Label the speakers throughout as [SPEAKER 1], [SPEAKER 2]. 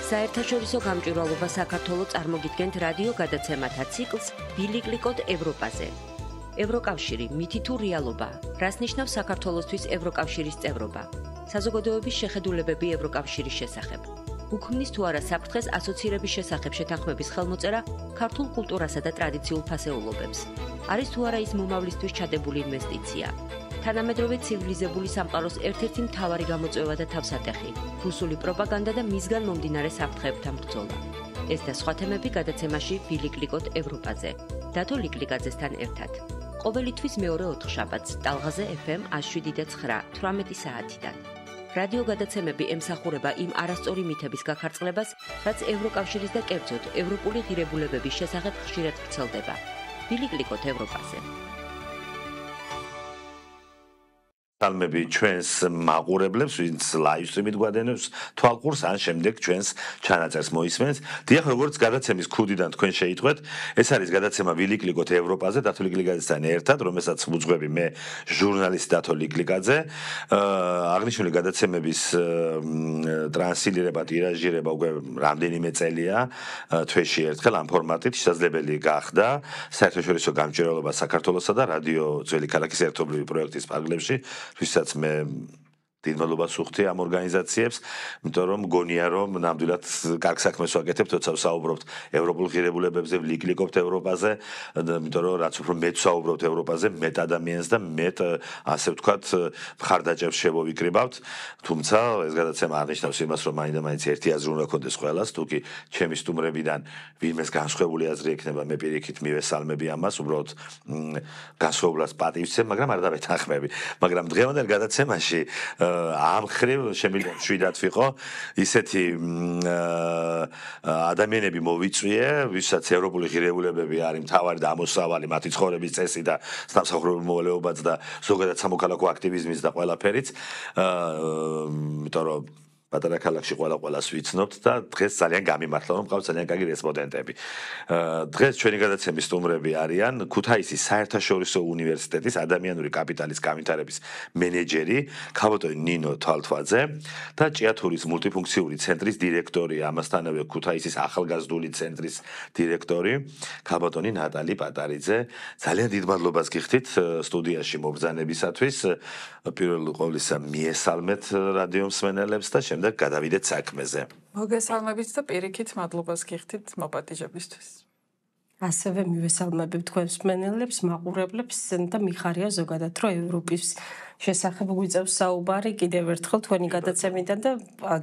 [SPEAKER 1] საერთაშორისო გამჭვირვალობა საქართველოს წარმოგიდგენთ რადიო გადაცემათა ციკლს ბილიკლიკოდ ევროპაზე. ევროკავშირი მითი თუ რეალობა, რას ნიშნავს საქართველოსთვის ევროკავშირის წევრობა, საზოგადოების შეხედულებები ევროკავშირის შესახებ. უქმნის თუ არა საფრთხეს ასოცირების შესახებ შეთანხმების ხელმოწერა ქართულ კულტურასა და ტრადიციულ ფასეულობებს. არის თუ არა ის მომავლისთვის ჩადებული ინვესტიცია. თანამედროვე ცივილიზებული სამყაროს ერთ-ერთი მთავარი გამოწვევა და თავსატეხი, რუსული პროპაგანდა და მისგან მომდინარე საფრთხეებთან ბრძოლა. ეს და სხვა თემები გადაცემაში ბილიკლიკოდ ევროპაზე. დათო ლიკლიკაძესთან ერთად. ყოველი თვის მეორე ოთხშაბათს ტალღაზე FM 107.9 18 საათიდან. რადიო გადაცემები ემსახურება იმ არასწორი მითების გაქარწყლებას, რაც ევროკავშირის და კერძოდ ევროპული ღირებულებების შესახებ ხშირად ვრცელდება. ბილიკლიკოდ ევროპაზე.
[SPEAKER 2] Talmebi ჩვენს მაყურებლებს, ვინც live stream-ით გვადენებს თვალყურს, ან შემდეგ ჩვენს ჩანაწერს მოისმენთ. დიახ, როგორც გადაცემის ქუდიდან თქვენ შეიტყვეთ, ეს არის გადაცემა ბილიკლიკოდ ევროპაზე, დათო ლიკლიკაძესთან ერთად, რომელსაც ვუძღვები მე, ჟურნალისტი დათო ლიკლიკაძე. აღნიშნული გადაცემების ტრანსლირება, ტირაჟირება უკვე რამდენიმე წელია, თვეში ერთხელ ამ ფორმატით შესაძლებელი გახდა საერთაშორისო გამჭვირვალობა საქართველოსა და რადიო ძველი ქალაქის ერთობლივი პროექტის პარკლებში. ვისაც მე დიდ მადლობას ვუხდი ამ ორგანიზაციებს, იმიტომ რომ მგონია რომ ნამდვილად კარგ საქმეს ვაკეთებთ, როცა ვსაუბრობთ ევროპულ ღირებულებებზე, ვლიკლიკობთ ევროპაზე, იმიტომ რომ რაც უფრო მეტ ვსაუბრობთ ევროპაზე, მეტ ადამიანს და მეტ ასე ვთქვათ მხარდაჭერს შევავიკრიბავთ. თუმცა ეს გადაცემა აღნიშნავს იმას, რომ მაინდა-მაინც ერთი აზრი უნდა გქონდეს ყველას, თუკი ჩემი სტუმრებიდან ვინმეს განსხვავებული აზრი ექნება, მე პირიქით მივესალმები ამას, უბრალოდ განსხვავებას პატივცემ, მაგრამ არ დავეთანხმები. მაგრამ დღევანდელ გადაცემაში ამ ხრივ შემიძლია შვიდად ვიყო ისეთი ადამიანები მოვიწვიე, ვისაც ევროპული ღირებულებები არის მთავარი და ამოსავალი მათი ცხოვრების წესი და სამსახურებრივი მოვალეობაც და ზოგადად სამოქალაქო აქტივიზმიც და ყველაფერიც. იმიტომ რომ პატარა ქალაქში ყველას ვიცნობთ და დღეს ძალიან გამიმართლა რომ მყავს ძალიან კარგი რესპონდენტები. დღეს ჩვენი გადაცემის სტუმრები არიან ქუთაისის საერთაშორისო უნივერსიტეტის ადამიანური კაპიტალის განვითარების მენეჯერი ქაბოტონი ნინო თვალთვაძე და ჭიათურის მულტიფუნქციური ცენტრის დირექტორი, ამასთანავე ქუთაისის ახალგაზრდული ცენტრის დირექტორი ქაბოტონი ნატალი პატარიძე. ძალიან დიდ მადლობას გიხდით სტუდიაში მობრძანებისათვის. პირველ ყოვლისა მიესალმეთ რადიო მსმენელებს და შემდეგ გადავიდეთ საქმეზე.
[SPEAKER 3] მოგესალმებით და პირიქით მადლობას გიხდით მოპატიჟებისთვის.
[SPEAKER 4] ასევე მივესალმებით თქვენს მსმენელებს, მაყურებლებს და მიხარია ზოგადად რომ ევროპის შესახებ გვიწევს საუბარი კიდევ ერთხელ თქვენი გადაცემიდან და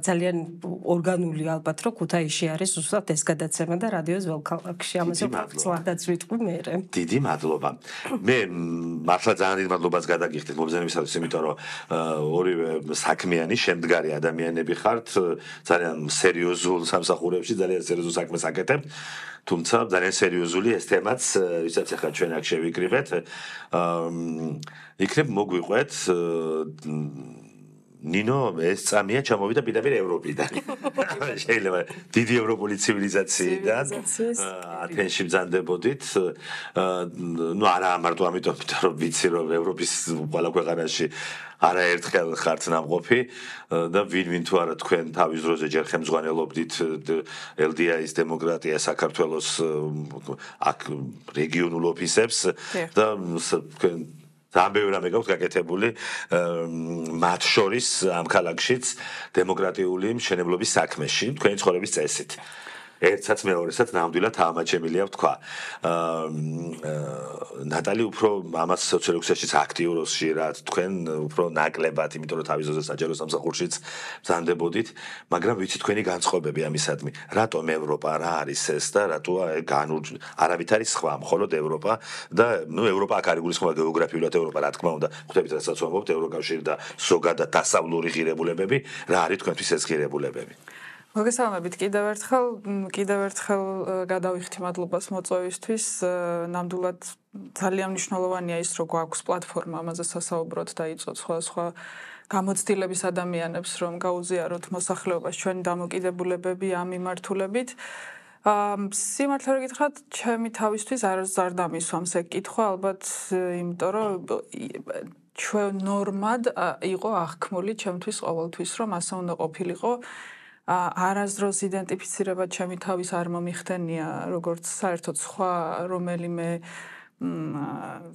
[SPEAKER 4] ძალიან ორგანული ალბათ რომ ქუთაისში არის უბრალოდ ეს გადაცემა და რადიო ძველ ქალაქში ამაზე ვწვადაც ვიტყვი მე.
[SPEAKER 2] დიდი მადლობა. მე მართლა ძალიან დიდ მადლობას გადაგიხდით მობრძანებისათვის, იმიტომ რომ ორივე საქმიანი, შემდგარი ადამიანები ხართ, ძალიან სერიოზულ სამსახურებში, ძალიან სერიოზულ საქმეს აკეთებთ. თუმცა ძალიან სერიოზული ეს თემაც, ვისაც ახლა ჩვენ აქ შევიკრიბეთ, იქნებ მოგვიყვეთ ნინო ეს წამია ჩამოვიდა პირდაპირ ევროპიდან. შეიძლება დიდი ევროპული ცივილიზაციიდან ათენში ბრძანდებოდით. ნუ არა მარტო ამიტომ, რომ ვიცი რომ ევროპის ყველა ქვეყანაში არაერთხელ ხართ ნამყოფი და ვინ თუ არა თქვენ თავის დროზე ჯერ ხელმძღვანელობდით LDI-ის დემოკრატია საქართველოს აქ რეგიონულ ოფისებს და თქვენ ძალიან ბევრი რამე გაქვთ გაკეთებული მათ შორის ამ ქალაქშიც დემოკრატიული მშენებლობის საქმეში თქვენი ცხოვრების წესით. ერთსაც მეორესაც ნამდვილად ამაჩემილია ვთქვა. ნატალი უფრო ამას სოციოლოგიაშიც აქტიურობს ხშირად, თქვენ უფრო ნაკლებად, იმიტომ რომ თავის ძროზე საჯარო სამსახურშიც ბრძანდებოდით, მაგრამ ვიცი თქვენი განწყობები ამისადმი. რატომ ევროპა, რა არის ეს და რატო არავით არის სხვა, მხოლოდ ევროპა და ევროპა აქ არის გულისხმობა გეოგრაფიულად ევროპა, რა თქმა უნდა, ხვდებით რასაც ვამბობთ, ევროკავშირი და ზოგადად დასავლური ღირებულებები, რა არის თქვენთვის ეს ღირებულებები?
[SPEAKER 3] მოგესალმებით კიდევ ერთხელ გადავიხდი მადლობას მოწვევისთვის. ნამდვილად ძალიან მნიშვნელოვანია ის, რომ გვაქვს პლატფორმა ამაზე სასაუბროთ და იწვევთ სხვა გამოცდილების ადამიანებს, რომ გაუზიაროთ მოსახლეობას ჩვენი დამოკიდებულებები ამ მიმართულებით. სიმართლე რომ გითხრათ, ჩემი თავისთვის არ დამისვამს ეგ კითხვა, ალბათ იმიტომ რომ ჩვენ ნორმად იყო აღქმული ჩემთვის ყოველთვის, რომ ასე უნდა ყოფილიყო. არასდროს იდენტიფიცირება ჩემი თავის არ მომიხდენია როგორც საერთოდ სხვა რომელიმე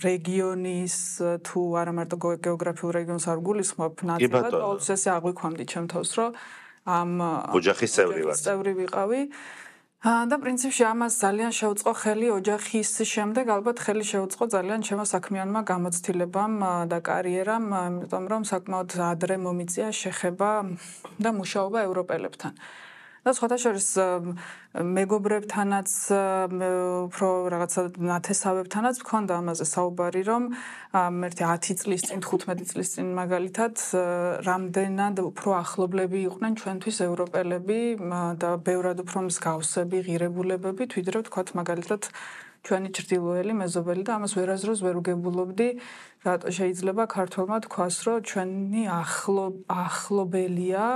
[SPEAKER 3] რეგიონის თუ არა მარტო გეოგრაფიულ რეგიონს არ გულისხმობ ნაცვლად ყოველთვის ესე აღვიქვამდი ჩემ თავს რომ ამ
[SPEAKER 2] ოჯახის წევრი
[SPEAKER 3] ვიყავი და პრინციპში ამას ძალიან შეუწყო ხელი ოჯახის შემდეგ ალბათ ხელი შეუწყო ძალიან ჩემო საქმიანმა გამოცდილებამ და კარიერამ იმიტომ რომ საკმაოდ ადრე მომიწია შეხება და მუშაობა ევროპელებთან და სხვათაშორის მეგობრებთანაც უფრო რაღაცა ნათესავებთანაც მქონდა ამაზე საუბარი რომ ერთი 10 წლის წინ 15 წლის წინ მაგალითად რამდენად უფრო ახლობლები იყვნენ ჩვენთვის ევროპელები და ბევრად უფრო მსგავსები ღირებულებები ვიდრე ვთქვათ მაგალითად ჩვენი ჭრდილოელი მეზობელი და ამას ვერაზროს ვერ უგებულობდი რატო შეიძლება ქართველმა თქვას რომ ჩვენი ახლობელია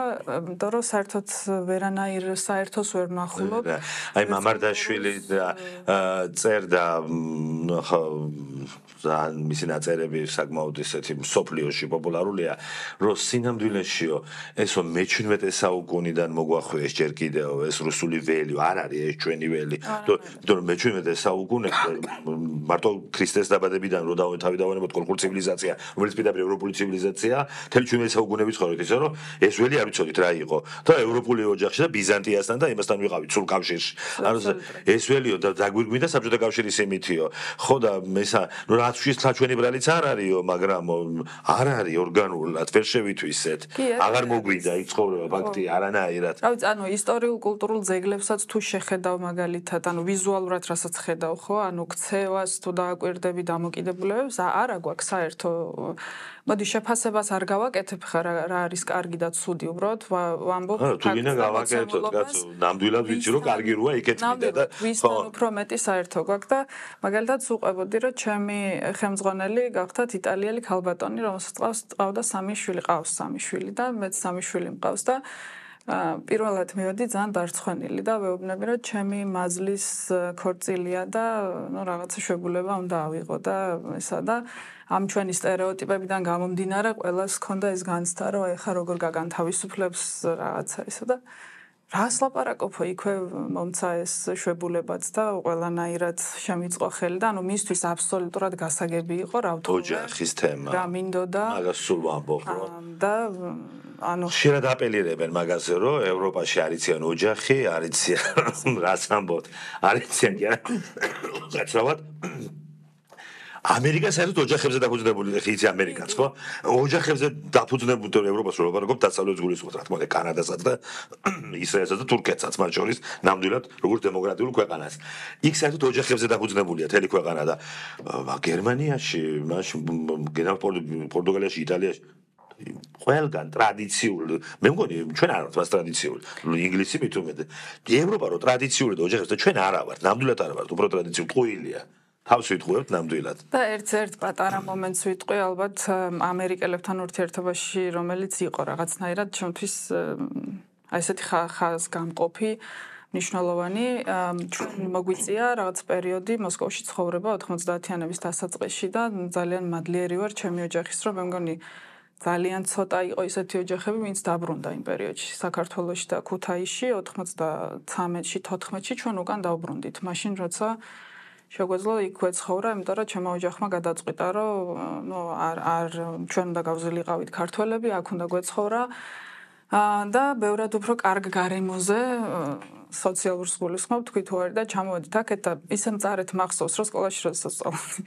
[SPEAKER 3] იმიტომ რომ საერთოდ ვერანაირ საერთოს ვერ ნახულობ
[SPEAKER 2] აი მამარდაშვილი წერდა მისი ნაწერები საკმაოდ ისეთი მსოფლიოში პოპულარულია რომ სინამდვილეშიო ესო მე-17 საუკუნიდან მოგვახვიეს ჯერ კიდევ ეს რუსული ველი არ არის ეს ჩვენი ველი იმიტომ რომ მე-17 საუკუნეში მარტო ქრისტეს დაბადებიდან რო დავანებოთ კულტურული ცივილიზაცია რომელიც პირდაპირ ევროპული ცივილიზაცია თელი 17 საუკუნეები ცხოვრობთ ისე რომ ეს ველი არ ვიცოდით რა იყო და ევროპული ოჯახში და ბიზანტიასთან და იმასთან ვიყავით სულ კავშირში ეს ველიო და დაგვირგვინდა საბჭოთა კავშირის იმითიო ხო და მესა ნუ რაც ჩვენი ბრალიც არ არისო მაგრამ არ არის ორგანულად ვერ შევითვისეთ აღარ მოგვიდა იქ ცხოვრება ფაქტია არანაირად
[SPEAKER 3] რავი ანუ ისტორიულ კულტურულ ძეგლებსაც თუ შეხედავ მაგალითად ანუ ვიზუალურად რასაც ხედავ ხო ანუ ქცევას თუ დააკვირდები დამოკიდებულებებს არა გვაქვს საერთო მოდი შეფასებას არ გავაკეთებ ხარ რა არის კარგი და ცუდი უბრალოდ ვამბობ
[SPEAKER 2] თუ გინდა გავაკეთოთ კაცო ნამდვილად ვიცი რომ კარგი როა იქეთ მინდა და
[SPEAKER 3] ხო უფრო მეტი საერთო გვაქვს და მაგალითად ვუყვებოდი რომ ჩემი ხელმძღვანელი გახდათ იტალიელი ქალბატონი რომელსაც ყავდა 3 შვილი ყავს 3 შვილი და მეც 3 შვილი მყავს და პირველად მივედი ძალიან დარცხვენილი და ვეუბნები რომ ჩემი მაზლის ქორწილია და ნუ რაღაცა შვებულება უნდა ავიღო და ესა და ამ ჩვენი სტერეოტიპებიდან გამომდინარე ყველას ჰქონდა ეს განცდა რომ ეხა როგორ გაგანთავისუფლებს რაღაცა ესა და რას ლაპარაკობო იქვე მომცა ეს შვებულებაც და ყველანაირად შემიწყო ხელი და ანუ მისთვის აბსოლუტურად გასაგები იყო რა ვთქვა
[SPEAKER 2] ოჯახის თემა
[SPEAKER 3] რა მინდოდა
[SPEAKER 2] მაგას სულ ვამბობ
[SPEAKER 3] და ანუ
[SPEAKER 2] ხშირად აპელირებენ მაგაზე რომ ევროპაში არიციან ოჯახი არიციან რას ამბობთ არიციან კი არა გაცრავად ამერიკა საერთოდ ოჯახებზე დაფუძნებული ხე იცი ამერიკაც ხო ოჯახებზე დაფუძნებული ევროპას რო ვაპარაკობ დასავლეთ გულისხმობთ რა თქმა უნდა კანადასაც და ისრაელსაც და თურქეთსაც მათ შორის ნამდვილად როგორც დემოკრატიულ ქვეყანას იქ საერთოდ ოჯახებზე დაფუძნებულია თელი ქვეყანა და გერმანიაში მაშინ პორტუგალიაში იტალიაში ყველგან ტრადიციული მე მგონი ჩვენ არ ვართ მას ტრადიციული ინგლისი მით უმეტე ევროპა რო ტრადიციული და ოჯახებზე ჩვენ არა ვართ ნამდვილად არა ვართ უფრო ტრადიციული ტყუილია თავს ვიტყუებთ ნამდვილად
[SPEAKER 3] და ერთ პატარა მომენტს ვიტყვი ალბათ ამერიკელებთან ურთიერთობაში რომელიც იყო რაღაცნაირად ჩემთვის აი ესეთი ხაზგამყოფი მნიშვნელოვანი ჩვენ მოგვიწია რაღაც პერიოდი მოსკოვში ცხოვრება 90-იანების დასაწყისში და ძალიან მადლიერი ვარ ჩემი ოჯახის რომ მე მგონი ძალიან ცოტა იყო ისეთი ოჯახები ვინც დაბრუნდა იმ პერიოდში საქართველოში და ქუთაისში 93-ში 14-ში ჩვენ უკან დავბრუნდით მაშინ როცა შეგვეძლო იქვე ცხოვრა, იმიტომ რომ ჩემო ოჯახმა გადაწყვიტა, რომ ნუ არ ჩვენ უნდა გავზილიყავით ქართველები, აქ უნდა გვეცხოვრა და ბევრად უფრო კარგ გარემოზე სოციალურ სკოლისხმობ თქვი თუ არის და ჩამოვედით აქეთ და ისე მწარეთ მახსოვს, რომ სკოლაში როდესაც სწავლობდი,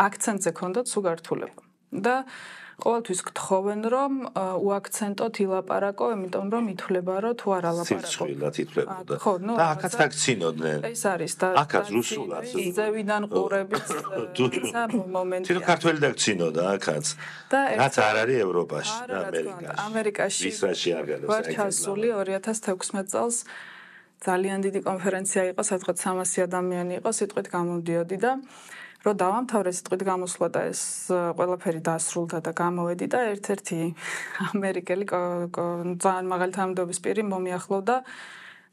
[SPEAKER 3] აქცენტზე ქონდათ სუგართულება. და ყოველთვის გთხოვენ რომ უაქცენტოთ ილაპარაკო, იმიტომ რომ ითვლება რომ თუ არ ალაპარაკო.
[SPEAKER 2] სიცილად ითვლებოდა. და აქაც აქცინოდნენ.
[SPEAKER 3] ეს არის და
[SPEAKER 2] აქაც რუსულად.
[SPEAKER 3] ზევიდან ყურების ისა მომენტი.
[SPEAKER 2] თვითონ ქართველი დაქცინოდა აქაც. რაც არ არის ევროპაში და ამერიკაში.
[SPEAKER 3] ამერიკაში.
[SPEAKER 2] ისრაელში არ გადასა.
[SPEAKER 3] ვარ ჩასული 2016 წელს ძალიან დიდი კონფერენცია იყო, სადღაც 300 ადამიანი იყო, სიტყვით გამოდიოდი და რო დავამთავრე სიტყვით გამოსვლა და ეს ყველაფერი დასრულდა და გამოვედი და ერთ-ერთი ამერიკელი ძალიან მაღალი თანამდებობის პირი მომიახლოვდა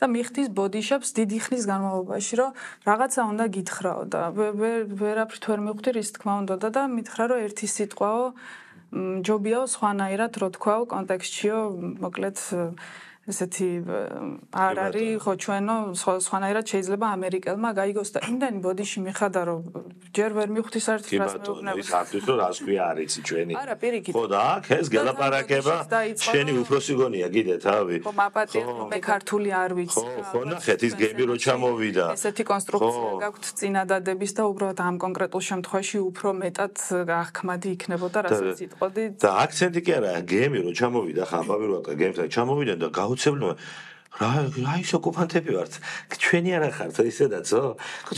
[SPEAKER 3] და მიხდის ბოდიშაპს დიდი ხნის განმავლობაში რომ რაღაცა უნდა გითხრაო და ვერაფრით ვერ მივხვდი რის თქმა უნდა და მითხრა რომ ერთი სიტყვაო ჯობიაო სხვანაირად რო თქვაო კონტექსტშიო მოკლედ ესეთი არ არის ხო ჩვენო სხვანაირად შეიძლება ამერიკელმა გაიგოს და იმდენი ბოდიში მიხადა რომ ჯერ ვერ მივხვდი საერთოდ რას მეუბნება
[SPEAKER 2] ის არის რომ რას ქვია არის ჩვენი
[SPEAKER 3] არა პირიქით
[SPEAKER 2] ხო და აქ ეს გელაპარაკება შენი უფროსი გონია კიდე თავი
[SPEAKER 3] ხო მაპატია რომ მე ქართული არ ვიცი
[SPEAKER 2] ხო ნახეთ ის გემი რო ჩამოვიდა
[SPEAKER 3] ესეთი კონსტრუქცია გაქვთ წინადადების და უბრალოდ ამ კონკრეტულ შემთხვევაში უფრო მეტად აღქმადი იქნებოდა რასაც იტყოდი
[SPEAKER 2] და აქცენტი კი არა გემი რო ჩამოვიდა ხამბავი რო გემთან ჩამოვიდა და გაუცებელია რა ის ოკუპანტები ვართ ჩვენი არა ხართ ისედაცო ხო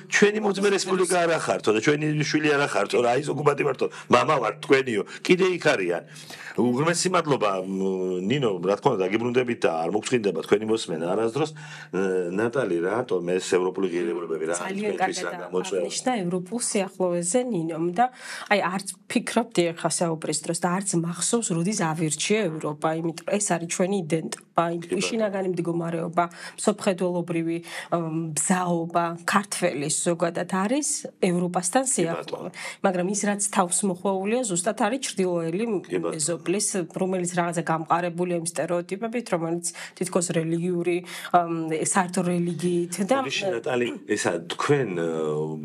[SPEAKER 2] ჩვენი მოძმე რესპუბლიკა არა ხართო და ჩვენი შვილი არა ხართო რა ის ოკუპანტი ვართო მამა ვარ თქვენიო კიდე იქ არიან უღრმესი მადლობა ნინო რა თქმა უნდა დაგიბრუნდებით და არ მოგწინდება თქვენი მოსმენა არასდროს ნატალი რატომ ეს ევროპული ღირებულებები რა
[SPEAKER 4] ძალიან კარგად აღნიშნა ევროპულ სიახლოვეზე ნინომ და აი არც ფიქრობდი ახლა საუბრის დროს და არც მახსოვს როდის ავირჩიე ევროპა იმიტომ ეს არის ჩვენი იდენტობა შინაგანი მდგომარეობა მსოფლმხედველობრივი ბზაობა ქართველის ზოგადად არის ევროპასთან სიახლოვე მაგრამ ის რაც თავს მოხვეულია ზუსტად არის ჩრდილოელი მეზობლის რომელიც რაღაცა გამყარებულია იმ სტერეოტიპებით რომელიც თითქოს რელიგიური საერთო რელიგიით და
[SPEAKER 2] ნატალი ესა თქვენ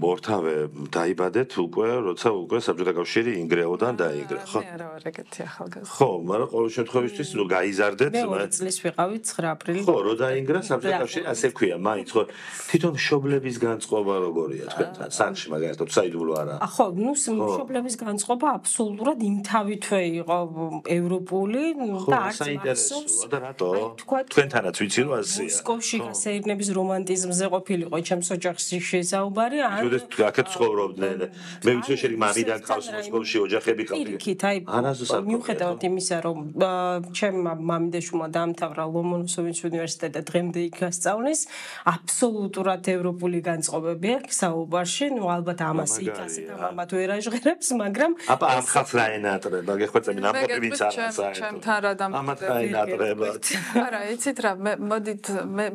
[SPEAKER 2] მორთავე დაიბადეთ უკვე როცა უკვე საბჭოთა კავშირი ინგრეოდან დაინგრა ხო
[SPEAKER 3] მე არა ვარ ეგეთი ახალგაზრდა
[SPEAKER 2] ხო მაგრამ ყოველ შემთხვევაში რო გაიზარდეთ
[SPEAKER 4] მე 2 წლის ვიყავი 9 აპრილის
[SPEAKER 2] ხო რო დაინგრა საბჭოთა კავშირი ასე ქვია მაინც ხო თვითონ მშობლების განწყობა როგორია თქვენთან სანში მაგალითად საიდუმლო არა
[SPEAKER 4] ხო ნუ მშობლების განწყობა აბსოლუტურად იმთავითვე იყო ევროპული და არც მახსოვს
[SPEAKER 2] და რატო თქვენთანაც ვიცი რომ ასეა
[SPEAKER 4] მოსკოვში გასეირნების რომანტიზმზე ყოფილიყო ჩემს ოჯახში შესაუბარი
[SPEAKER 2] ან აქეთ ცხოვრობდნენ მე ვიცი შენი მამიდან ყავს მოსკოვში ოჯახები
[SPEAKER 4] ყავდა მიუხედავად იმისა რომ ჩემმა მამიდაშვილმა დაამთავრა ლომონოსოვის უნივერსიტეტი და დღემდე იქ გასწავლის აბსოლუტურად ევროპული განწყობები აქვს საუბარში ნუ ალბათ ამას იქ ასე და მამად ვერ აჟღერებს მაგრამ
[SPEAKER 2] აბა ამ ხალხს რა ენატრება გეხვეწები ნამყოფი ვინც არა საერთოდ
[SPEAKER 3] ჩემთან რა
[SPEAKER 2] დამოკიდებულება
[SPEAKER 3] არა იცით რა მოდით მე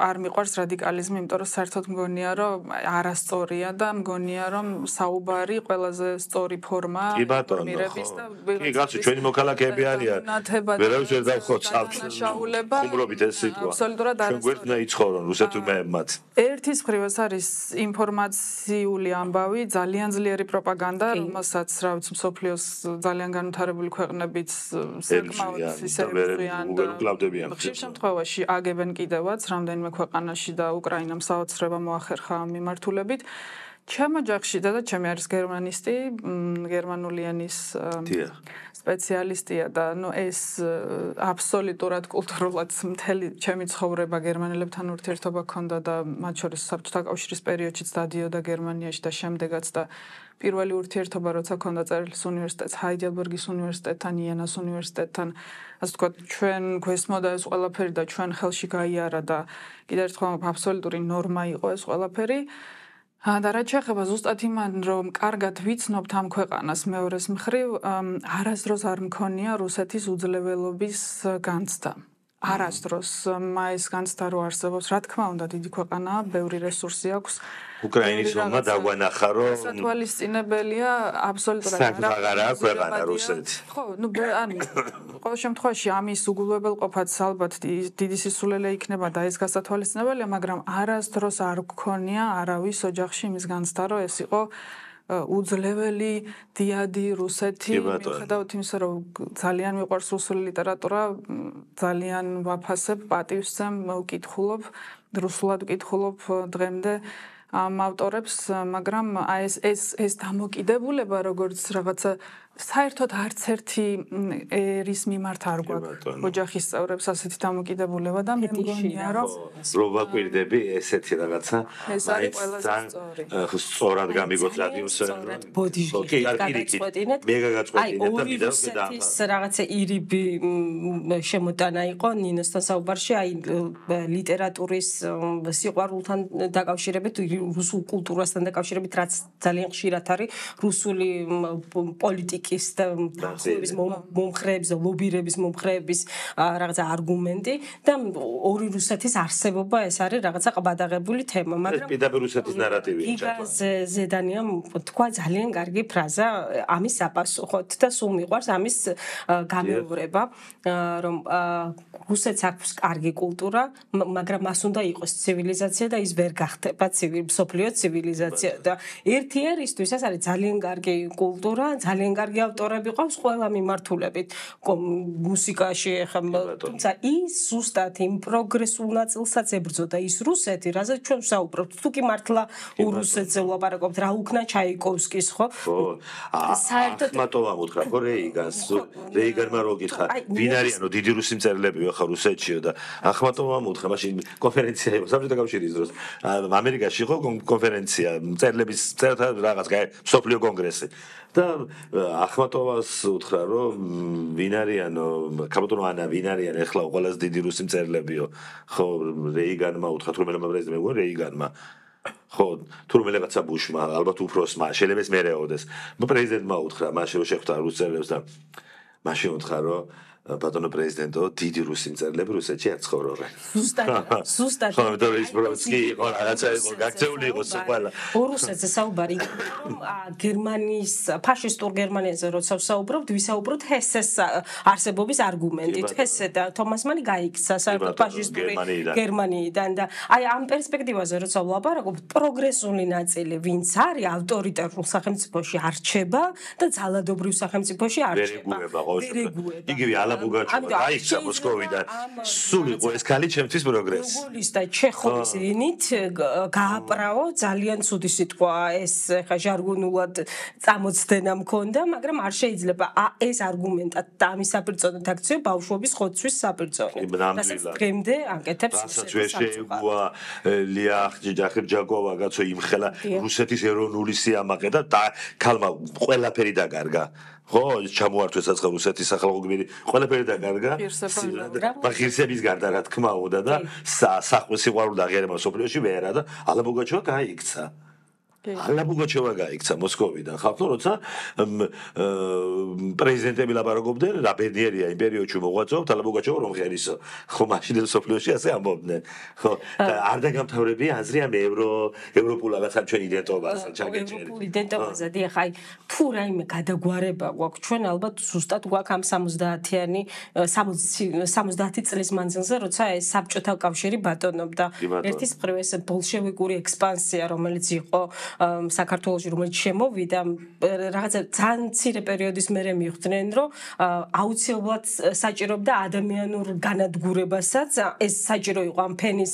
[SPEAKER 3] არ მიყვარს რადიკალიზმი იმიტომ რომ საერთოდ მგონია რომ არასწორია და მგონია რომ საუბარი ყველაზე სწორი ფორმა
[SPEAKER 2] მირების და კი გასულ ჩვენი მოქალაქეები არიან ვერავის ვერ დავხოცავთ უმრობით ეს სიტყვა
[SPEAKER 3] აბსოლუტურად
[SPEAKER 2] ჩვენ გვერდნა იცხოვრონ რუსეთურმეებმაც
[SPEAKER 3] ერთის მხრივ ეს არის ინფორმაციული ამბავი ძალიან ძლიერი პროპაგანდა რომელსაც რა ვიცი მსოფლიოს ძალიან განვითარებული ქვეყნებიც საკმაოდ ისე
[SPEAKER 2] უგერკლავდებიან
[SPEAKER 3] ხშირ შემთხვევაში აგებენ კიდევაც რამდენიმე ქვეყანაში და უკრაინამ საოცრება მოახერხა მიმართულებით ჩემ ოჯახში და ჩემი არის გერმანისტი გერმანული ენის სპეციალისტია და ნუ ეს აბსოლუტურად კულტურულად მთელი ჩემი ცხოვრება გერმანელებთან ურთიერთობა ჰქონდა და მათ შორის საბჭოთა კავშირის პერიოდშიც დადიოდა გერმანიაში და შემდეგაც და პირველი ურთიერთობა როცა ჰქონდა წერილის უნივერსიტეტს ჰაიდელბერგის უნივერსიტეტთან იენას უნივერსიტეტთან ასე ვთქვათ ჩვენ გვესმოდა ეს ყველაფერი და ჩვენ ხელში გაიარა და კიდევ ერთხელ აბსოლუტური ნორმა იყო ეს ყველაფერი და რაც შეეხება ზუსტად იმან რომ კარგად ვიცნობთ ამ ქვეყანას მეორეს მხრივ არასდროს არ მქონია რუსეთის უძლეველობის განცდა არასდროს მაის განცდა რო არსებობს რა თქმა უნდა დიდი ქვეყანაა ბევრი რესურსი აქვს
[SPEAKER 2] უკრაინის ომმა დაგვანახა რომ
[SPEAKER 3] სათვალისწინებელია აბსოლუტურად
[SPEAKER 2] აღარა აქვს ქვეყანა რუსეთი
[SPEAKER 3] ხო ნუ ანუ ყოველ შემთხვევაში ამის უგულებელყოფაც ალბათ დიდი სისულელე იქნება და ეს გასათვალისწინებელია მაგრამ არასდროს არ გქონია არავის ოჯახში იმის განცდა რომ ეს იყო უძლეველი დიადი რუსეთი მიუხედავად იმისა რომ ძალიან მიყვარს რუსული ლიტერატურა ძალიან ვაფასებ პატივსცემ ვკითხულობ რუსულად ვკითხულობ დღემდე ამ ავტორებს მაგრამ ეს დამოკიდებულება როგორც რაღაცა საერთოდ არც ერთი ერის მიმართ არ გვაქვს ოჯახის წევრებს ასეთი დამოკიდებულება და მე მგონია რომ
[SPEAKER 2] რო ვაკვირდები ესეთი რაღაცა
[SPEAKER 3] ეს არის ყველაზე სწორი
[SPEAKER 2] სწორად გამიგოთ რადიოს
[SPEAKER 4] ბოდიში გაგაწყვეტინეთ
[SPEAKER 2] მე გაგაწყვეტინეთ და მიდევ
[SPEAKER 4] და რაღაცა ირიბი შემოტანა იყო ნინოსთან საუბარში აი ლიტერატურის სიყვარულთან დაკავშირებით რუსულ კულტურასთან დაკავშირებით რაც ძალიან ხშირად არის რუსული პოლიტიკა პოლიტიკის და თანხმობის მომხრეების და ლობირების მომხრეების რაღაცა არგუმენტი და ორი რუსეთის არსებობა ეს არის რაღაცა ყბადაღებული თემა, მაგრამ
[SPEAKER 2] პირდაპირ რუსეთის ნარატივია
[SPEAKER 4] ჩაყვა. ზედანიამ თქვა ძალიან კარგი ფრაზა ამის საპასუხოდ და სულ მიყვარს ამის გამეორება, რომ რუსეთს აქვს კარგი კულტურა, მაგრამ მას უნდა იყოს ცივილიზაცია და ის ვერ გახდება მსოფლიო ცივილიზაცია და ერთი ერისთვის ეს არის ძალიან კარგი კულტურა, ძალიან კარგი ავტორები ყავს ყველა მიმართულებით მუსიკაში, თუმცა ის ზუსტად იმ პროგრესულ ნაწილსაც ებრძოდა ის რუსეთი, რაზეც ჩვენ ვსაუბრობთ. თუ კი მართლა რუსეთზე ვლაპარაკობთ, რა უკნა ჩაიკოვსკის, ხო?
[SPEAKER 2] ახმატოვამ უთხრა, ხო რეიგანმა რო გითხრა, ვინ არიანო დიდი რუსი მწერლებიო ხა რუსეთშიო და ახმატოვამ უთხრა, მაშინ კონფერენცია იყო საბჭოთა კავშირის დროს. ამერიკაში იყო კონფერენცია, მწერლების წერთა რაღაც მსოფლიო კონგრესი. და ახმატოვას უთხრა, რომ ვინ არიანო, კაპიტონ ანა ვინ არიან ეხლა ყველაზე დიდი რუსი მწერლებიო. ხო, რეიგანმა უთხრა, თურმელებმა პრეზიდენტმა უგო რეიგანმა. ხო, თურმელებაცა ბუშმა, ალბათ უფროსმა, შეიძლება ეს მერეოდეს. პრეზიდენტმა უთხრა, მაშინ რომ შეხვდა რუს მწერლებს და მაშინ უთხრა, რომ ბატონო პრეზიდენტო, დიდი რუსი მწერლები რუსეთში არ ცხოვრობენ.
[SPEAKER 4] ზუსტად.
[SPEAKER 2] ხო, მეტყვი ის პროცესი იყო, რაღაცა იყო, გაქცეული იყო ყველა.
[SPEAKER 4] რუსეთზე საუბარი, რომ გერმანიის ფაშისტურ გერმანიაზე როცა ვსაუბრობთ, ვისაუბროთ ჰესეს არსებობის არგუმენტით. ჰესე და თომას მანი გაიქცა საერთოდ ფაშისტური გერმანიიდან და აი ამ პერსპექტივაზე როცა ვლაპარაკობთ, პროგრესული ნაწილი ვინც არის ავტორიტარულ სახელმწიფოში არჩება და ძალადობრივ სახელმწიფოში არჩება.
[SPEAKER 2] იგივე ალაბუგაჩოვა გაიქცა მოსკოვიდან. სულ იყო ეს ქალი ჩემთვის პროგრესი.
[SPEAKER 4] გოგოლის და ჩეხოვის ენით გააპრაო ძალიან ცუდი სიტყვა ეს ხა ჟარგონულად წამოცდენა მქონდა, მაგრამ არ შეიძლება ეს არგუმენტად და ამის საპირწონოდ აქციო ბავშვობის ხოცვის საპირწონოდ. რასაც დღემდე აკეთებს
[SPEAKER 2] შეეგუა ლიახ ჯახერჯაკოვა გაცო იმხელა რუსეთის ეროვნული სიამაყე და ქალმა ყველაფერი დაკარგა. ხო, ჩამოართვეს საცხო რუსეთის სახალხო გმირი, ყველაფერი დაკარგა. ღირსების გარდა რა თქმა უნდა და სახვეს სიყვარული აღიარება სოფლიოში ვერა და ალაბუგაჩოვა გაიქცა. ალაბუგაჩოვა გაიქცა მოსკოვიდან. ხალხო როცა პრეზიდენტები ლაპარაკობდნენ, რა ბედნიერია იმ პერიოდში მოღვაწეობთ, ალაბუგაჩოვა რომ ღერისო. ხო, მაშინ სოფლიოში ასე ამბობდნენ. ხო, არ დაგამთავრებია აზრი ამ ევროპულ რაღაცა ჩვენ იდენტობას ჩაგეჭერი.
[SPEAKER 4] ევროპულ იდენტობაზე დიახ, აი თუ რაიმე გადაგვარება გვაქვს ჩვენ ალბათ ზუსტად გვაქვს ამ 70-იანი 70 წლის მანძილზე, როცა ეს საბჭოთა კავშირი ბატონობდა. ერთის მხრივ ეს ბოლშევიკური ექსპანსია, რომელიც იყო საქართველოში, რომელიც შემოვიდა, რაღაცა ძალიან მცირე პერიოდის მერე მიხვდნენ, რომ აუცილებლად საჭიროებდა ადამიანურ განადგურებასაც. ეს საჭირო იყო ამ ფენის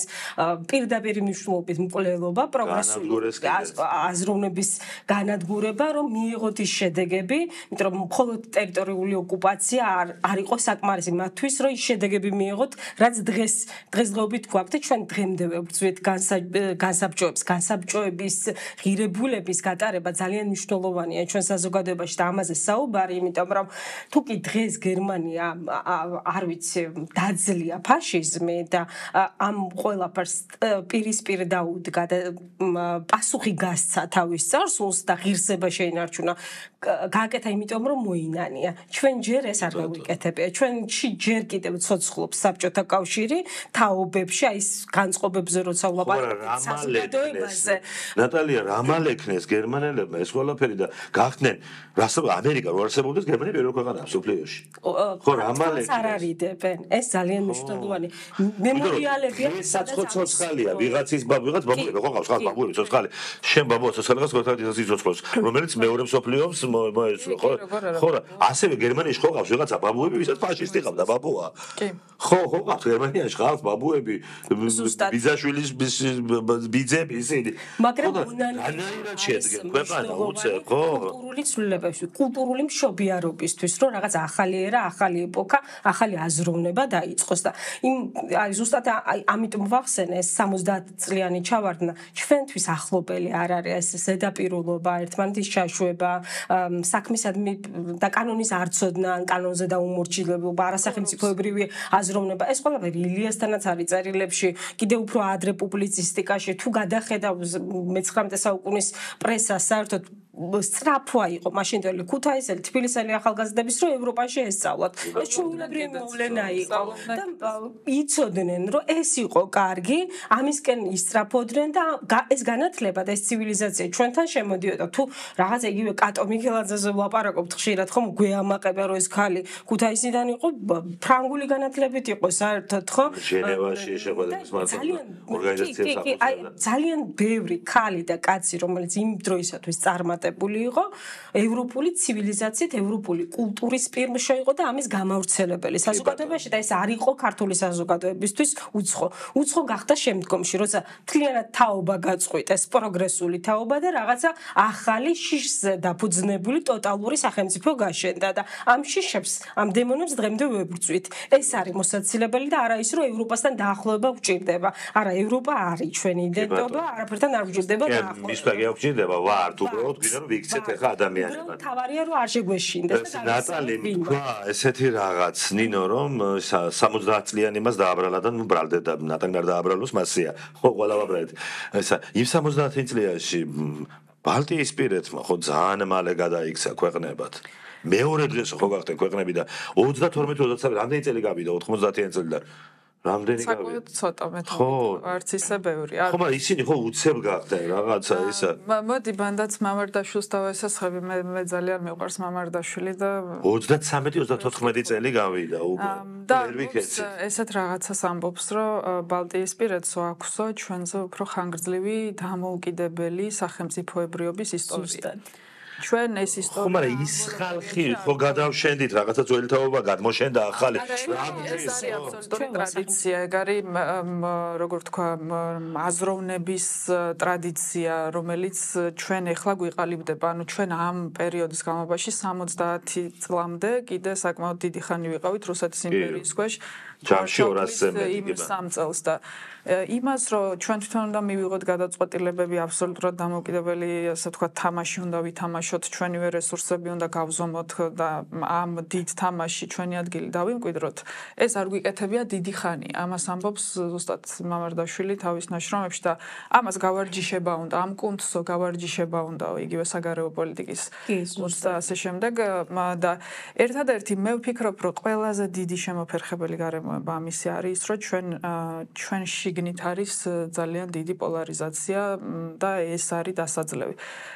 [SPEAKER 4] პირდაპირ მნიშვნელობით მკვლელობა, პროგრესული აზროვნების განადგურება, რომ მიიღოთ ის შედეგები, იმიტომ რომ მხოლოდ ტერიტორიული ოკუპაცია არ იყო საკმარისი მათთვის, რომ ის შედეგები მიიღოთ, რაც დღესდღეობით გვაქვს და ჩვენ დღემდე ვებრძვით განსაბჭოების ღირებულების გატარება ძალიან მნიშვნელოვანია ჩვენ საზოგადოებაში და ამაზე საუბარი, იმიტომ რომ თუ კი დღეს გერმანია არ ვიცი დაძლია ფაშიზმი და ამ ყველაფერს პირისპირ დაუდგა და პასუხი გასცა თავის წარსულს და ღირსება შეინარჩუნა, გააკეთა იმიტომ რომ მოინანია. ჩვენ ჯერ ეს არ გავიკეთებია. ჩვენში ჯერ კიდევ ცოცხლობს საბჭოთა კავშირი თაობებში, აი ეს განწყობებზე როცა ვლაპარაკობთ საზოგადოებაზე.
[SPEAKER 2] ნატალია, რამალ ეკნეს გერმანელებმა ეს ყველაფერი და გახდნენ ამერიკა რო არსებობდეს გერმანია პირველ ქვეყანაა მსოფლიოში. ხო, რამალ ეკნეს.
[SPEAKER 4] არ არიდებენ. ეს ძალიან მნიშვნელოვანი მემორიალებია.
[SPEAKER 2] ცოცხალია, ვიღაც ბაბუები ხო ყავს, ხალხ ბაბუები ცოცხალი. შენ ბაბუა ცოცხალებას გოთადის იცოცხლოს, რომელიც მეორე მსოფლიოს მოეცლო, ხო? ხო, ასევე გერმანიაში ხო ყავს ვიღაცა ბაბუები, ვისაც ფაშისტი ყავდა ბაბუა. კი. ხო, ყავს გერმანიაში ყავს ბაბუები, ბიძაშვილის ბიძები ისინი.
[SPEAKER 4] მაგრამ
[SPEAKER 2] ანაირად შედგენ ქვეყანა უცებ, ხო?
[SPEAKER 4] კულტურული ცვლილებებში, კულტურული მშობიარობისთვის, რომ რაღაც ახალი ერა, ახალი ეპოქა, ახალი აზროვნება დაიწყოს და აი ზუსტად ამიტომ ვახსენე ეს 70 წლიანი ჩავარდნა ჩვენთვის ახლობელი არ არის ეს ზედაპირულობა, ერთმანეთის ჩაშვება, საქმისადმი და კანონის არცოდნა, კანონზე დაუმორჩილებლობა, არასახელმწიფოებრივი აზროვნება, ეს ყველაფერი ილიასთანაც არის წერილებში, კიდევ უფრო ადრე პუბლიცისტიკაში, თუ გადახედავ მე-19 საუკუნის პრესა საერთოდ სწრაფვა იყო მაშინდელი ქუთაისელი თბილისელი ახალგაზრდების რომ ევროპაში ესწავლათ. ეს ჩვეულებრივი მოვლენა იყო და იცოდნენ რომ ეს იყო კარგი, ამისკენ ისწრაფოდნენ და ეს განათლება და ეს ცივილიზაცია ჩვენთან შემოდიოდა. თუ რაღაც იგივე კატო მიქელაძეზე ვლაპარაკობთ ხშირად ხომ გვეამაყება რომ ეს ხალი ქუთაისიდან იყო ფრანგული განათლებით იყო საერთოდ ხო?
[SPEAKER 2] ჟენევაში შეხვედრების ორგანიზაციებს
[SPEAKER 4] ძალიან ბევრი ხალი და კაცი რომელიც იმ დროისათვის წარმატებული იყო ევროპული ცივილიზაციით, ევროპული კულტურის პირმშო იყო და ამის გამავრცელებელი საზოგადოებაში და ეს არ იყო ქართული საზოგადოებისთვის უცხო. უცხო გახდა შემდგომში, როცა მთლიანად თაობა გაწყვიტა, ეს პროგრესული თაობა და რაღაცა ახალი შიშზე დაფუძნებული ტოტალური სახელმწიფო გაშენდა და ამ შიშებს, ამ დემონებს დღემდე ვებრძვით. ეს არის მოსაცილებელი და არა ის რომ ევროპასთან დაახლოება გვჭირდება. არა, ევროპა არის ჩვენი იდენტობა, არაფერთან არ გვჭირდება დაახლოება.
[SPEAKER 2] მის პაგია გვჭირდება, ვართ უბრალოდ გვინდა რომ ვიქცეთ ახლა ადამიანებად.
[SPEAKER 4] თავარია რომ არ შეგვეშინდეს და
[SPEAKER 2] ნატალი თქვა ესეთი რაღაც ნინო რომ 70 წლიანი მას დააბრალა და ნუ ბრალდება ნატალი არ დააბრალოს მასია. ხო, ყველა ვაბრალეთ. ესა იმ 70 წლიაში ბალტიისპირეთმა ხო ძალიან მალე გადაიქცა ქვეყნებად. მეორე დღეს ხო გახდნენ ქვეყნები და 32-33 რამდენი წელი გავიდა 90-იან წლიდან. რამდენი გავიდა?
[SPEAKER 3] საკუთარ ცოტა მე არც ისე ბევრი.
[SPEAKER 2] ხო, მაგრამ ისინი ხო უცებ გახდნენ რაღაცა ისა.
[SPEAKER 3] მოდი ბანდაც მამარდაშვილს დავესახები, მე ძალიან მიყვარს მამარდაშვილი და
[SPEAKER 2] 33-34 წელი გავიდა უკვე.
[SPEAKER 3] და ესეთ რაღაცას ამბობს, რომ ბალტიისპირეთსო აქვსო ჩვენზე უფრო ხანგრძლივი დამოუკიდებელი სახელმწიფოებრიობის ისტორია. ჩვენ ეს ისტორია
[SPEAKER 2] ხო, მაგრამ ის ხალხი ხო გადავშენდით რაღაცა ძველი თაობა გადმოშენდა ახალი.
[SPEAKER 3] ეს არის აბსოლუტური ტრადიცია, ეგ არის როგორ თქვა, აზროვნების ტრადიცია, რომელიც ჩვენ ეხლა გვიყალიბდება. ანუ ჩვენ ამ პერიოდის განმავლობაში 70 წლამდე კიდე საკმაოდ დიდი ხანი ვიყავით რუსეთის იმპერიის ქვეშ.
[SPEAKER 2] ჯამში 200-ზე მეტი
[SPEAKER 3] იმ 3 წელს და იმას რომ ჩვენ თვითონ უნდა მივიღოთ გადაწყვეტილებები აბსოლუტურად დამოუკიდებელი, ასე ვთქვათ, თამაში უნდა ვითამაშოთ, ჩვენივე რესურსები უნდა გავზომოთ და ამ დიდ თამაში ჩვენი ადგილი დავიმკვიდროთ. ეს არ გვიკეთებია დიდი ხანი. ამას ამბობს ზუსტად მამარდაშვილი თავის ნაშრომებში და ამას გავარჯიშება უნდა, ამ კუნთსო გავარჯიშება უნდა იგივე საგარეო პოლიტიკის კურსს და ასე შემდეგ და ერთადერთი მე ვფიქრობ, რომ ყველაზე დიდი შემოფერხებელი გარემოება ამისი არის, რომ ჩვენ შიგნით არის ძალიან დიდი პოლარიზაცია და ეს არის დასაძლევი.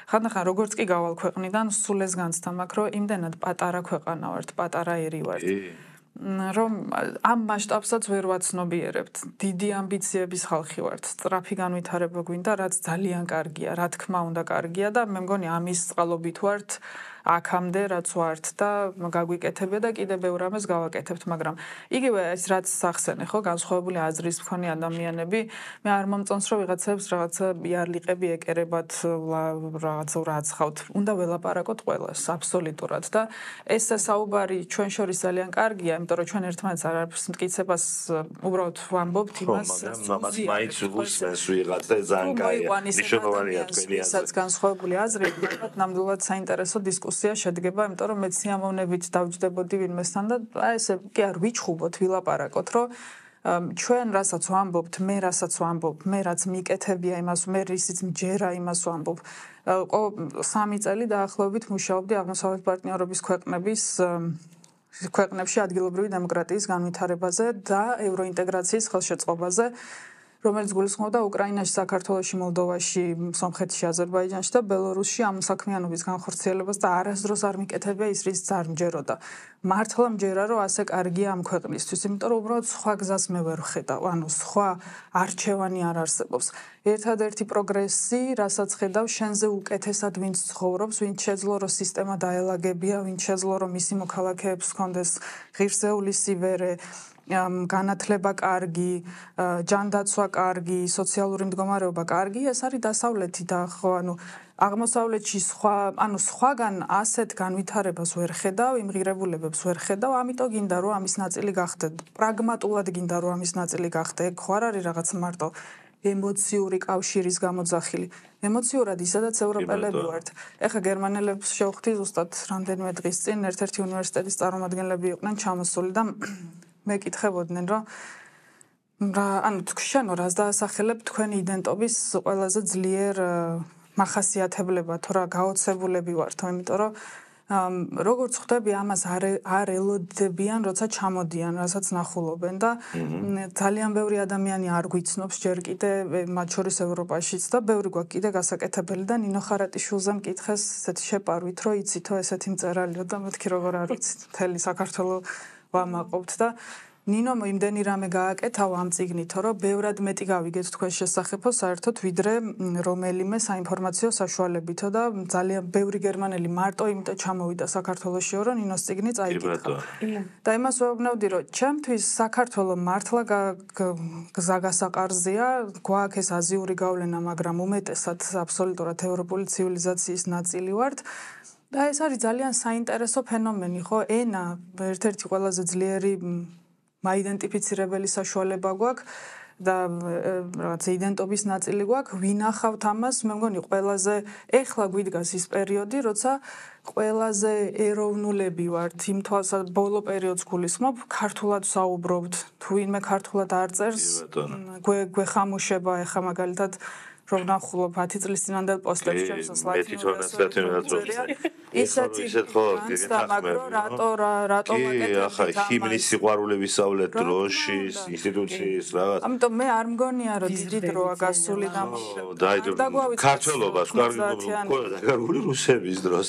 [SPEAKER 3] ხანდახან როგორც კი გავალ ქვეყნიდან, სულ ეს განცდა მაქვს, რომ იმდენად პატარა ქვეყანა ვართ, პატარა ერი ვართ. რომ ამ მასშტაბსაც ვერ ვაცნობიერებთ. დიდი ამბიციების ხალხი ვართ. სწრაფი განვითარება გვინდა, რაც ძალიან კარგია, რა თქმა უნდა კარგია და მე მგონი ამის წყალობით ვართ აქამდე რაც ვართ და გაგვიკეთებია და კიდე ბევრ ამას გავაკეთებთ, მაგრამ იგივე ეს რაც სახსენე ხო, განსხვავებული აზრის მქონე ადამიანები, მე არ მომწონს რომ ვიღაცებს რაღაცა იარლიყები ეკერებათ, რაღაცა ვრაცხავთ. უნდა ველაპარაკოთ ყველას აბსოლუტურად და ეს საუბარი ჩვენ შორის ძალიან კარგია, იმიტომ რომ ჩვენ ერთმანეთს არაფერს მტკიცებას უბრალოდ ვამბობთ იმას,
[SPEAKER 2] მამას მაინც უსმენს ვიღაც და ძალიან კაია. მნიშვნელოვანია თქვენი აზრი.
[SPEAKER 3] ისაც განსხვავებული აზრი, ალბათ ნამდვილად საინტერესო დისკუსია შედგება, იმიტომ რომ მეც სიამოვნებით დავჯდებოდი ვინმესთან და ესე კი არ ვიჩხუბოთ, ვილაპარაკოთ, რომ ჩვენ რასაც ვამბობთ, მე რასაც ვამბობ, მე რაც მიკეთებია იმას, მე რისიც მჯერა იმას ვამბობ. 3 წელი დაახლოებით მუშაობდი აღმოსავლეთ პარტნიორობის ქვეყნებში ადგილობრივი დემოკრატიის განვითარებაზე და ევროინტეგრაციის ხელშეწყობაზე, რომელიც გულისხმობდა უკრაინაში, საქართველოში, მოლდოვაში, სომხეთში, აზერბაიჯანში და ბელორუსში ამ საქმიანობის განხორციელებას და არასდროს არ მიკეთებია ის, რის არ მჯეროდა. მართლა მჯერა, რომ ასე კარგია ამ ქვეყნისთვის, იმიტომ რომ უბრალოდ სხვა გზას მე ვერ ვხედავ, ანუ სხვა არჩევანი არ არსებობს. ერთადერთი პროგრესი, რასაც ხედავ, შენზე უკეთესად ვინც ცხოვრობს, ვინც შეძლო რომ სისტემა დაელაგებია, ვინც შეძლო რომ მისი მოქალაქეებს ჰქონდეს ღირსეული სივერე, განათლება კარგი, ჯანდაცვა კარგი, სოციალური მდგომარეობა კარგი, ეს არის დასავლეთი და ხო, ანუ აღმოსავლეთში სხვაგან ასეთ განვითარებას ვერ ხედავ, იმ ღირებულებებს ვერ ხედავ, ამიტომ გინდა რომ ამის ნაწილი გახდე, პრაგმატულად გინდა რომ ამის ნაწილი გახდე, ეგ ხო არ არის რაღაც მარტო ემოციური კავშირის გამოძახილი. ემოციურად ისედაც ევროპელები ვართ. ეხა გერმანელებს შევხვდი ზუსტად რამდენიმე დღის წინ ერთ-ერთი უნივერსიტეტის წარმომადგენლები იყვნენ ჩამოსული და მეკითხებოდნენ, რომ ანუ შენო რას დაასახელებ თქვენი იდენტობის ყველაზე ძლიერ მახასიათებლება თუ რა გაოცებულები ვართ, იმიტომ რომ როგორც ხვდები ამას არ ელოდებიან, როცა ჩამოდიან, რასაც ნახულობენ და ძალიან ბევრი ადამიანი არ გვიცნობს ჯერ კიდე მათ შორის ევროპაშიც და ბევრი გვაქვს კიდე გასაკეთებელი და ნინო ხარატიშვილზე მკითხეს ესეთი შეპარვით, რომ იცითო ესეთი მწერალიო და მეთქი როგორ არ ვიცით, მთელი საქართველოს ვამაყობთ და ნინო იმდენი რამე გააკეთავ ამ წიგნითო, რომ ბევრად მეტი გავიგეთ თქვენ შესახებო საერთოდ ვიდრე რომელიმე საინფორმაციო საშუალებითო და ძალიან ბევრი გერმანელი მარტო იმიტომ ჩამოვიდა საქართველოსშიო, რომ ნინოს წიგნი წაიკითხა. და იმას ვეუბნევდი, რომ ჩემთვის საქართველო მართლა გზაგასაყარზეა, გვაქვს ეს აზიური გავლენა, მაგრამ უმეტესად აბსოლუტურად ევროპული ცივილიზაციის ნაწილი ვართ. და ეს არის ძალიან საინტერესო ფენომენი, ხო? ენა ერთ-ერთი ყველაზე ძლიერი მაიდენტიფიცირებელი საშუალება გვაქვს და რაღაც იდენტობის ნაწილი გვაქვს, ვინახავთ ამას, მე მგონი ყველაზე ეხლა გვიდგას ის პერიოდი, როცა ყველაზე ეროვნულები ვართ, იმ თვალსა ბოლო პერიოდს გულისხმობ, ქართულად საუბრობთ, თუ ვინმე ქართულად არ წერს, გვეხამუშება ეხა მაგალითად რომ ნახულობ 10 წლის წინანდელ პოსტებს ჩემს ისეთი ხო რატო
[SPEAKER 2] აკეთებ ჰიმნის სიყვარული ვისავლეთ დროშის ინსტიტუციის რაღაც
[SPEAKER 3] ამიტომ მე არ მგონია რომ დიდი დროა გასული
[SPEAKER 2] ქართველობას კარგი რუსების დროს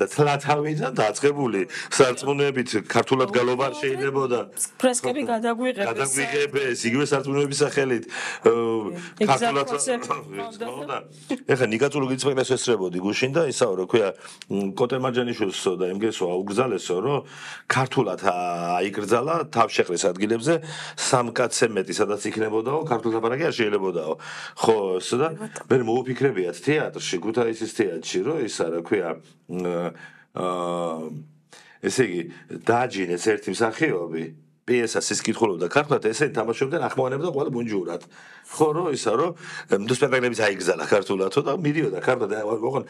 [SPEAKER 2] და თლათავიდან დაწყებული სარწმუნოებით ქართულად გალობა შეიძლებოდა
[SPEAKER 4] ფრესკები გადაგვიღებეს
[SPEAKER 2] იგივე სარწმუნოების სახელით ქართულად ეხა ნიკაწული გიწმენას ესწრებოდი გუშინ და ისაო რა ქვია კოტე მარჯანიშვილსო და იმგესო აუგზალესო რომ ქართულად აიგრძალა თავშეყრის ადგილებზე სამკაცზე მეტი სადაც იქნებოდაო ქართულ ლაპარაკი არ შეიძლებოდაო ხო ესა და მე მოუფიქრებიათ თეატრში ქუთაისის თეატრში რომ ისა რა ქვია ესე იგი დააჯინეს ერთი მსახიობი პიესას ის კითხულობდა ქართულად ესენი თამაშობდნენ ახმოვანებდა ყველა ბუნჯურად ხო რომ ისა რომ სპექტაკლებიც აიგზალა ქართულადო და მიდიოდა ქართულად ოღონ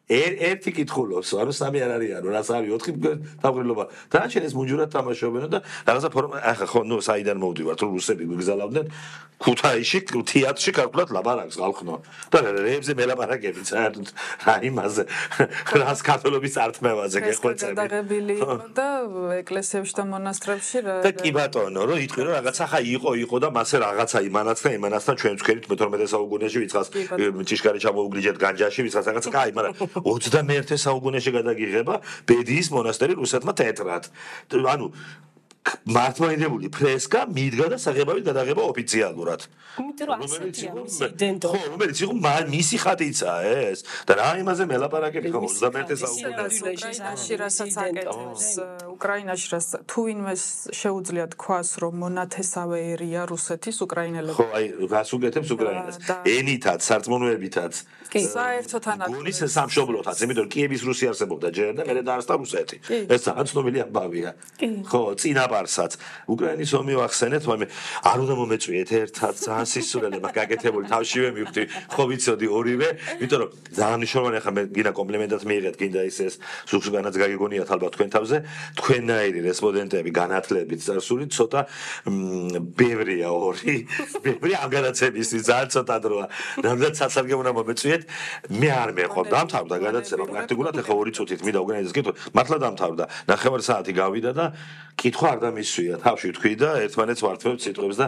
[SPEAKER 2] ერთი კითხულობს ანუ სამი არ არიანო რას არის 4 თავგრილობა დააჩენ ეს ბუნჯურად თამაშობენ და რაღაცა ფორმა ახლა ხო ნუ საიდან მოვდივართ რომ რუსები გვიგზალავდნენ ქუთაისში თეატრში ქართულად ლაპარაკს ხალხნო და რეებზე მელაპარაკები საერთოდ რა იმაზე რას ქართულობის ართმევაზე გეხვეწები
[SPEAKER 3] გადაღებილი და ეკლესიებში და მონასტრებში რა
[SPEAKER 2] და კი ბატონო რომ იტყვი რომ რაღაცა ხა იყო და მასე რაღაცა იმანაცთან ჩვენ ვქერით მე-12 საუკუნეში ვიწყას ჭიშკარი ჩამოუგლიჯეთ განჯაში ვიწყას რაღაცა კაი მაგრამ 21 საუკუნეში გადაგიღება ბედიის მონასტერი რუსეთმა თეატრად ანუ მართლმადიდებელი ფრესკა მიდგა და საღებავით გადაღება ოფიციალურად რომელიც იყო მისი ხატიცა ეს და რა იმაზე მელაპარაკები ხო 21
[SPEAKER 3] საუკუნეში რასაც აკეთებს უკრაინაში რაც თუ ვინმე შეუძლია თქვას რომ მონათესავე ერია რუსეთის უკრაინელები
[SPEAKER 2] ხო აი რას უკეთებს უკრაინას ენითაც სარწმუნოებითაც
[SPEAKER 3] საერთოდ ანაკ
[SPEAKER 2] გუნის სამშობლოთაც იმიტომ რომ კიევის რუსი არსებობდა ჯერ და მერე დაარსდა რუსეთი ეს ძალიან ცნობილი ამბავია ხო წინაპარსაც უკრაინის ომი ვახსენეთ მაგრამ არ უნდა მომეწვიეთ ერთად ძალიან სისულელება გაკეთებული თავშივე მივხვდი ხო ვიცოდი ორივე იმიტომ რომ ძალიან მნიშვნელოვანი ახლა მე გინდა კომპლიმენტად მიიღეთ გინდა ის ზუგზუგანაც გაგიგონიათ ალბათ თქვენ თავზე თქვენნაირი რესპონდენტები განათლებით წარსული ცოტა ბევრია ბევრი ამ განათლებისთვის ძალიან ცოტა დროა რამდენად სასარგებლო უნდა მომეწვიეთ მე არ მეყო დამთავრდა განათლება პრაქტიკულად ახლა 2 წუთით მინდა უკრაინას კითხო მართლა დამთავრდა 9 საათი გავიდა და კითხვა არ დამისვია თავში თქვი და ერთმანეთს ვართმევთ სიტყვებს და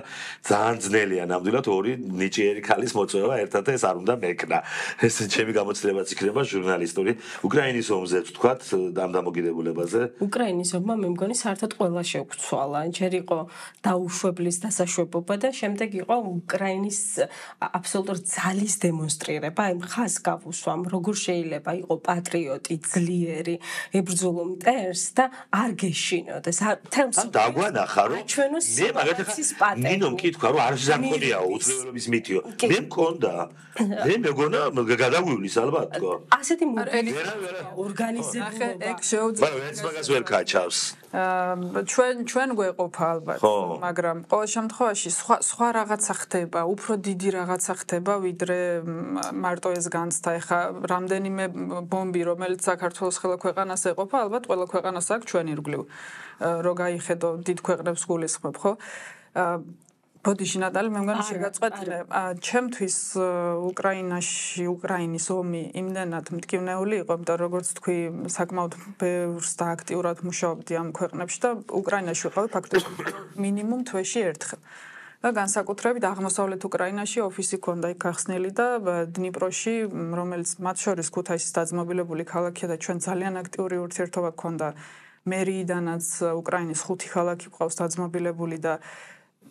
[SPEAKER 2] ძალიან ძნელია ნამდვილად ორი ნიჭიერი ქალის მოწვევა ერთად ეს არ უნდა მეკნა ეს ჩემი გამოცდილებაც იქნება ჟურნალისტური უკრაინის ომზე ვთქვათ ამ დამოკიდებულებაზე
[SPEAKER 4] უკრაინის ომმა მე მგონი საერთოდ ყველა შეგვცვალა ჯერ იყო დაუშვებლის დასაშვებობა და შემდეგ იყო უკრაინის აბსოლუტურ ძალის დემონსტრირება აი ხას გავუსვამ როგორ შეიძლება იყო პატრიოტი ძლიერი ებრძოლო მტერს და არ გეშინოდეს
[SPEAKER 2] დაგვანახა რომ მე მაგალითად ნინო მკითხა რომ არ ზამქონიაო უძლეველობის მითიო მე მქონდა მე მეგონა გადაგვივლის ალბათ თქო
[SPEAKER 4] ასეთი ორგანიზებული
[SPEAKER 3] ეგ შეუძლია
[SPEAKER 2] მაგრამ ეს მაგას ვერ კაჩავს
[SPEAKER 3] ჩვენ გვეყოფა ალბათ მაგრამ ყოველ შემთხვევაში სხვა რაღაცა ხდება უფრო დიდი რაღაცა ხდება ვიდრე მარტო ეს განცდა ეხა რამდენიმე ბომბი რომელიც საქართველოს ყველა ქვეყანას ეყოფა ალბათ ყველა ქვეყანას აქვს ჩვენ ირგვლივ რო გაიხედო დიდ ქვეყნებს გულისხმობ ხო ბოდიში ნატალი, მე მგონი შეგაწყვეტილე. ჩემთვის უკრაინის ომი იმდენად მტკივნეული იყო, იმიტომ როგორც თქვი, საკმაოდ ბევრს და აქტიურად მუშაობდი ამ ქვეყნებში და უკრაინაში ვიყავი ფაქტობრივად მინიმუმ თვეში ერთხელ. და განსაკუთრებით აღმოსავლეთ უკრაინაში ოფისი ქონდა იქ გახსნილი და დნიპროში, რომელიც მათ შორის ქუთაისის დაძმობილებული ქალაქია და ჩვენ ძალიან აქტიური ურთიერთობა გქონდა მერიიდანაც უკრაინის 5 ქალაქი ყავს დაძმობილებული და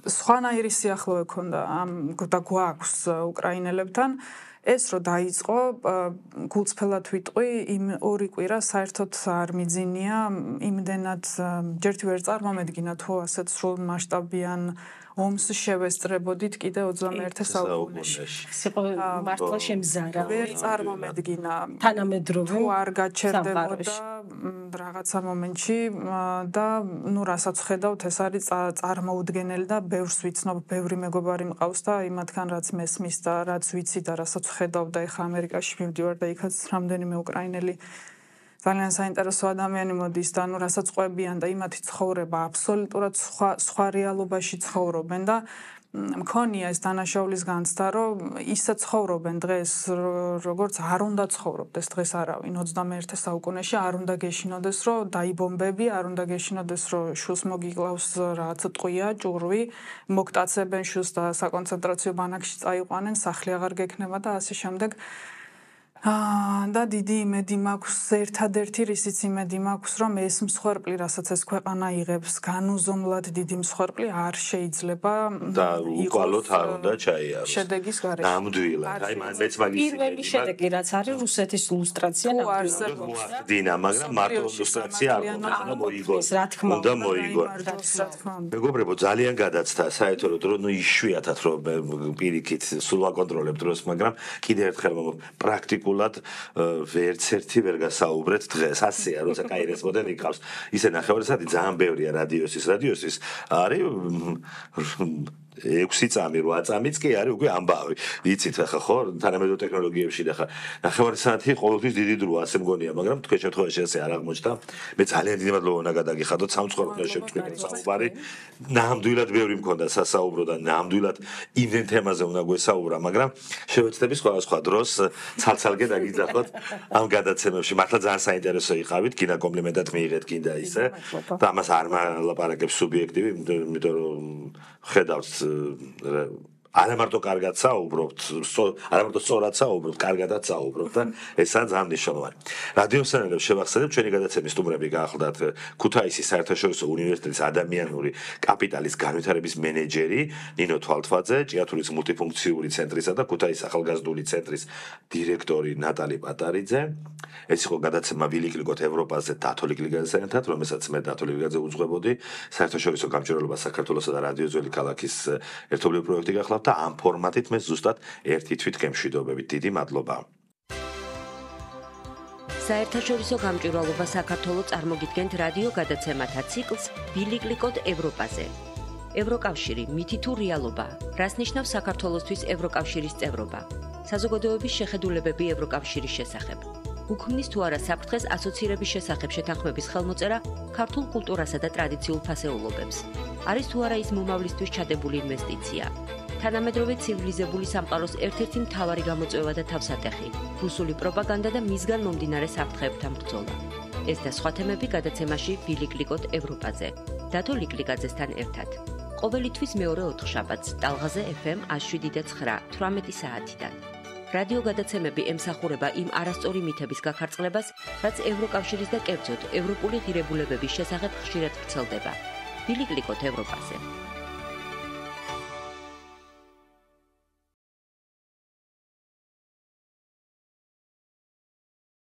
[SPEAKER 3] სხვანაირი სიახლოვე ქონდა ამ და გვაქვს უკრაინელებთან. ეს რო დაიწყო, გულწრფელად ვიტყვი, იმ ორი კვირა საერთოდ არ მიძინია, იმდენად ჯერ ვერ წარმომედგინა თუ ასეთ სრულ მასშტაბიან ომს შევესწრებოდით კიდე 21 საუკუნეში.
[SPEAKER 4] იყო მართლა შემზარა.
[SPEAKER 3] ვერ წარმომედგინა.
[SPEAKER 4] თანამედროვე
[SPEAKER 3] თუ არ გაჩერდებოდა რაღაცა მომენტში და ნუ რასაც ხედავთ, ეს არის წარმოუდგენელი და ბევრს ვიცნობ, ბევრი მეგობარი მყავს და იმათგან რაც მესმის და რაც ვიცი და რასაც ხედავ და ეხა ამერიკაში მივდივარ და იქაც რამდენიმე უკრაინელი ძალიან საინტერესო ადამიანი მოდის და ნუ რასაც ყვებიან და იმათი ცხოვრება აბსოლუტურად სხვა რეალობაში ცხოვრობენ და მქონია ეს დანაშაულის განცდა, რომ ისე ცხოვრობენ დღეს, როგორც არ უნდა ცხოვრობდეს დღეს არავინ 21 საუკუნეში, არ უნდა გეშინოდეს, რომ დაიბომბები, არ უნდა გეშინოდეს, რომ შულს მოგიკლავს რაღაც ტყვია, ჭურვი, მოგტაცებენ შულს და საკონცენტრაციო ბანაკში წაიყვანენ, სახლი აღარ გექნება და ასე შემდეგ. და დიდი იმედი მაქვს, ერთადერთი რისიც იმედი მაქვს, რომ ეს მსხვერპლი, რასაც ეს ქვეყანა იღებს, განუზომლად დიდი მსხვერპლი არ შეიძლება
[SPEAKER 2] და უკვალოდ არ უნდა ჩაიაროს.
[SPEAKER 3] შედეგის გარეშე.
[SPEAKER 2] ნამდვილად. აი მეც მაგის
[SPEAKER 4] პირველი შედეგი რაც არის რუსეთის ლუსტრაცია
[SPEAKER 2] ნამდვილად. დინა, მაგრამ მარტო ლუსტრაცია არ უნდა მოიგოს. უნდა მოიგოს. მეგობრებო, ძალიან გადაცდა საერთოდ რომ იშვიათად რომ პირიქით სულ ვაკონტროლებ დროს, მაგრამ კიდევ ერთხელ პრაქტიკულად ვერც ერთი ვერ გასაუბრეთ დღეს. ასეა, როცა კაი რესპონდენტი გყავს. ისე ნახევარსადი ძალიან ბევრია რადიოსის არის 6 წამი 8 წამიც კი არის უკვე ამბავი. იცით ახლა ხო თანამედროვე ტექნოლოგიებში და ხა ნახევარი საათი ყოველთვის დიდი დროა, ასე მგონია, მაგრამ თქვენ შემთხვევაში ესე არ აღმოჩნდა. მე ძალიან დიდი მადლობა უნდა გადაგიხადოთ სამწუხაროდ შევწყვიტე საუბარი. ნამდვილად ბევრი მქონდა სასაუბრო და ნამდვილად იმენ თემაზე უნდა გვესაუბრა, მაგრამ შევეცდები სხვადასხვა დროს ცალ-ცალკე დაგიძახოთ ამ გადაცემებში. მართლა ძალიან საინტერესო იყავით, გინდა კომპლიმენტად მიიღეთ, გინდა ისე. და ამას არ მალაპარაკებს სუბიექტივი, იმიტომ რომ ხედავთ არა მარტო კარგად საუბრობთ, არა მარტო სწორად საუბრობთ, კარგადაც საუბრობთ და ესაა ძალიან მნიშვნელოვანი. რადიო სანელებს შევახსენებ, ჩვენი გადაცემის სტუმრები გაახლდათ ქუთაისის საერთაშორისო უნივერსიტეტის ადამიანური კაპიტალის განვითარების მენეჯერი ნინო თვალთვაძე, ჭიათურის მულტიფუნქციური ცენტრისა და ქუთაისის ახალგაზრდული ცენტრის დირექტორი ნატალი პატარიძე. ეს იყო გადაცემა ვილიკლიკოთ ევროპაზე დათო ლიკლიკაძესთან ერთად, რომელსაც მე დათო ლიკლიკაძე უძღვებოდი, საერთაშორისო გამჭირვალობა საქართველოსა და რადიო ძველი ქალაქის ერთობლივი პროექტი გახლავთ და ამ ფორმატით მე ზუსტად ერთი თვით გემშვიდობებით. დიდი მადლობა.
[SPEAKER 1] საერთაშორისო გამჭვირვალობა საქართველოს წარმოგიდგენთ რადიო გადაცემათა ციკლს ვილიკლიკოთ ევროპაზე. ევროკავშირი მითი თუ რეალობა, რას ნიშნავს საქართველოსთვის ევროკავშირის წევრობა? საზოგადოების შეხედულებები ევროკავშირის შესახებ. უქმნის თუ არა საფრთხეს ასოცირების შესახებ შეთანხმების ხელმოწერა ქართულ კულტურასა და ტრადიციულ ფასეულობებს. არის თუ არა ის მომავლისთვის ჩადებული ინვესტიცია. თანამედროვე ცივილიზებული სამყაროს ერთ-ერთი მთავარი გამოწვევა და თავსატეხი, რუსული პროპაგანდა და მისგან მომდინარე საფრთხეებთან ბრძოლა. ეს და სხვა თემები გადაცემაში ვილიკლიკოთ ევროპაზე. დათო ლიკლიკაძესთან ერთად. ყოველი თვის მეორე ოთხშაბათს ტალღაზე FM 107.9 18 საათიდან. რადიო გადაცემები ემსახურება იმ არასწორი მითების გაქარწყლებას, რაც ევროკავშირის და კერძოდ ევროპული ღირებულებების შესახებ ხშირად ვრცელდება. ვილიკლიკოთ ევროპაზე.